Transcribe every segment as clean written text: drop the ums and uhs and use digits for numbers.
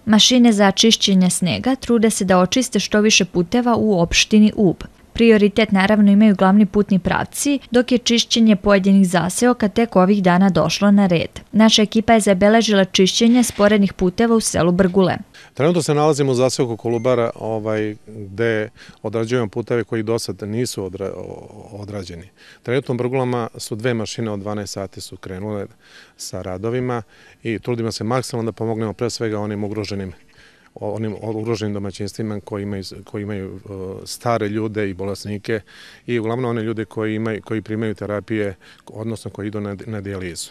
Mašine za čišćenje snega trude se da očiste što više puteva u opštini Ub. Prioritet naravno imaju glavni putni pravci, dok je čišćenje pojedinih zaseoka tek ovih dana došlo na red. Naša ekipa je zabeležila čišćenje sporednih puteva u selu Brgule. Trenutno se nalazimo u zaseoku Kolubara gde odrađujemo puteve koji do sada nisu odrađeni. Trenutno u Brgulama su 2 mašine od 12 sati su krenule sa radovima i trudimo se maksimalno da pomognemo pre svega onim ugroženim domaćinstvima koji imaju stare ljude i bolesnike i uglavnom one ljude koji primaju terapije, odnosno koji idu na dijalizu.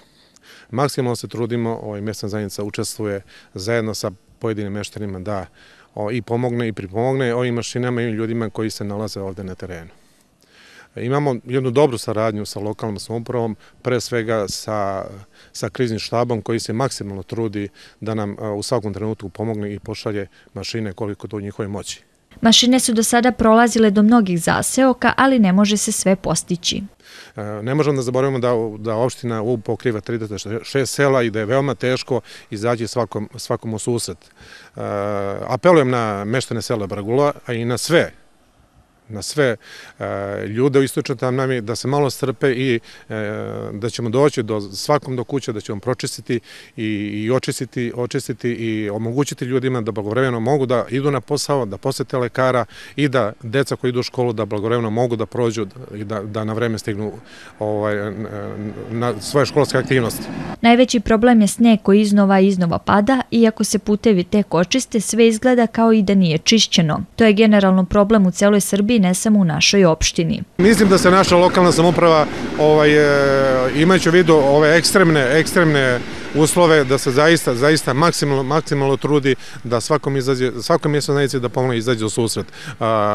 Maksimalno se trudimo, mjesna zajednica učestvuje zajedno sa pojedinim meštanima da i pomogne i pripomogne ovim mašinama i ljudima koji se nalaze ovde na terenu. Imamo jednu dobru saradnju sa lokalnom samoupravom, pre svega sa kriznim štabom koji se maksimalno trudi da nam u svakom trenutku pomogne i pošalje mašine koliko to u njihovoj moći. Mašine su do sada prolazile do mnogih zaseoka, ali ne može se sve postići. Ne možemo da zaboravimo da opština Ub pokriva 36 sela i da je veoma teško izaći svakom u susret. Apelujem na meštane sela Brgula, a i na sve ljude u istočnoj Tamnavi da se malo strpe i da ćemo doći svakom do kuće, da ćemo pročistiti i očistiti i omogućiti ljudima da blagovremeno mogu da idu na posao, da posete lekara i da deca koji idu u školu da blagovremeno mogu da prođu i da na vreme stignu na svoje školske aktivnosti. Najveći problem je sneg koji iznova pada, iako se putevi tek očiste, sve izgleda kao i da nije čišćeno. To je generalno problem u celoj Srbiji, ne samo u našoj opštini. Mislim da se naša lokalna samouprava, imajući u vidu ove ekstremne uslove, da se zaista maksimalno trudi da svakoj mjesnoj zajednici da pomogne izađe u susret.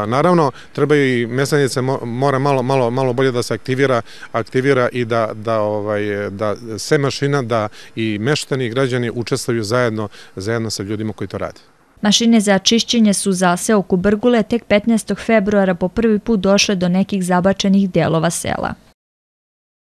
Naravno, treba i mjesna zajednica mora malo bolje da se aktivira i da sve mašina, da i meštani i građani učestvuju zajedno sa ljudima koji to rade. Mašine za čišćenje su u zaseoku Brgule tek 15. februara po prvi put došle do nekih zabačenih delova sela.